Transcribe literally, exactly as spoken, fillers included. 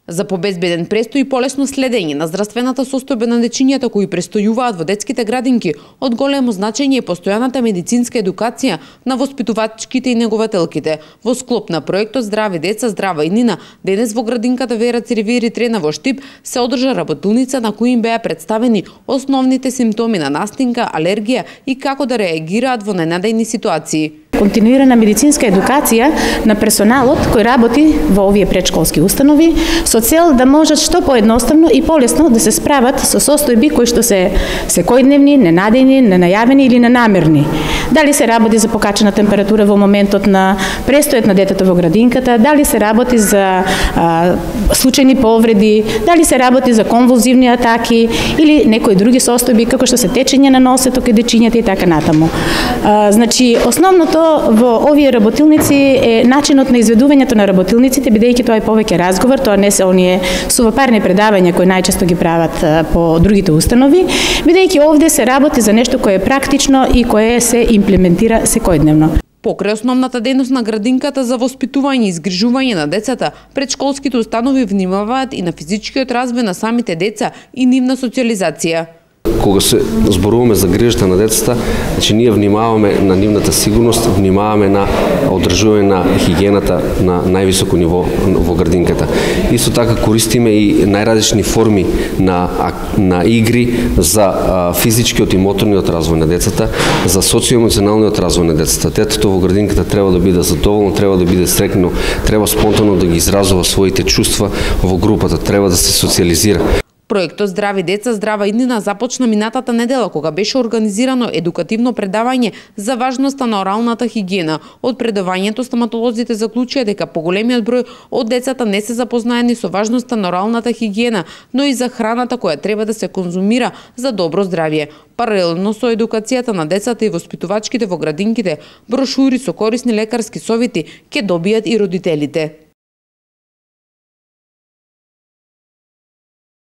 За побезбеден престој и полесно следење на здравствената состојба на дечињата кои престојуваат во детските градинки, од големо значење е постојаната медицинска едукација на воспитувачките и негователките. Во склоп на проектот Здрави деца, здрава иднина, денес во градинката Вера Цирвири Трена во Штип се одржа работилница на кои им беа представени основните симптоми на настинка, алергија и како да реагираат во ненадејни ситуации. Континуирана медицинска едукација на персоналот кој работи во овие претшколски установи со цел да можат што поедноставно и полесно да се справат со состојби кои што се секојдневни, ненадејни, ненајавени или ненамерни. Дали се работи за покачена температура во моментот на престојот на детето во градинката, дали се работи за а, случајни повреди, дали се работи за конвулзивни атаки или некои други состојби како што се течење на носето кај дечињата и така натаму. А, значи основното во овие работилници е начинот на изведувањето на работилниците, бидејќи тоа е повеќе разговор, тоа не се оние сувапарни предавања кои најчесто ги прават по другите установи, бидејќи овде се работи за нешто кое е практично и кое се имплементира секојдневно. Покрај основната дејност на градинката за воспитување и изгрижување на децата, претшколските установи внимаваат и на физичкиот развој на самите деца и нивна социализација. Кога се зборуваме за грижата на децата, значи ние внимаваме на нивната сигурност, внимаваме на одржување на хигиената на највисоко ниво во градинката. Исто така користиме и најразлични форми на на игри за а, физичкиот и моторниот развој на децата, за социоемоционалниот развој на децата. Детето во градинката треба да биде задоволно, треба да биде среќно, треба спонтано да ги изразува своите чувства во групата, треба да се социализира. Проектот Здрави деца, здрава иднина започна минатата недела кога беше организирано едукативно предавање за важноста на оралната хигиена. Од предавањето стоматолозите заклучија дека поголемиот број од децата не се запознаени со важноста на оралната хигиена, но и за храната која треба да се конзумира за добро здравје. Паралелно со едукацијата на децата и воспитувачките во градинките, брошури со корисни лекарски совети ќе добијат и родителите.